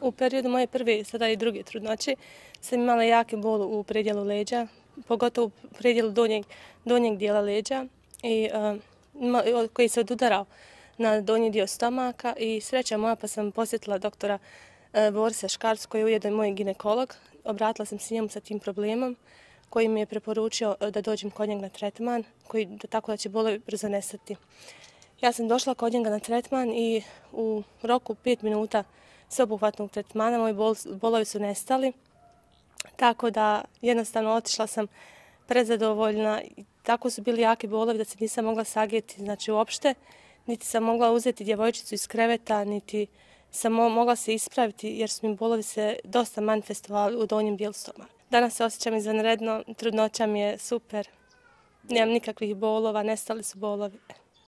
U periodu moje prve, sada i druge trudnoće, sam imala jake bol u predjelu leđa, pogotovo u predjelu donjeg dijela leđa koji se odudarao na donji dio stomaka i sreća moja pa sam posjetila doktora Borisa Škarcu koji je ujedno moj ginekolog. Obratila sam se njemu sa tim problemom koji mi je preporučio da dođem kod njega na tretman, tako da će bolovi brzo nestati. Ja sam došla kod njega na tretman i u roku 5 minuta sveobuhvatnog tretmana moji bolovi su nestali, tako da jednostavno otišla sam prezadovoljna. Tako su bili jaki bolovi da se nisam mogla sagijeti, znači uopšte, niti sam mogla uzeti djevojčicu iz kreveta, niti sam mogla se ispraviti jer su mi bolovi se dosta manifestovali u donjem dijelu stomaka. Danas se osjećam izvanredno, trudnoća mi je super, nemam nikakvih bolova, nestali su bolovi.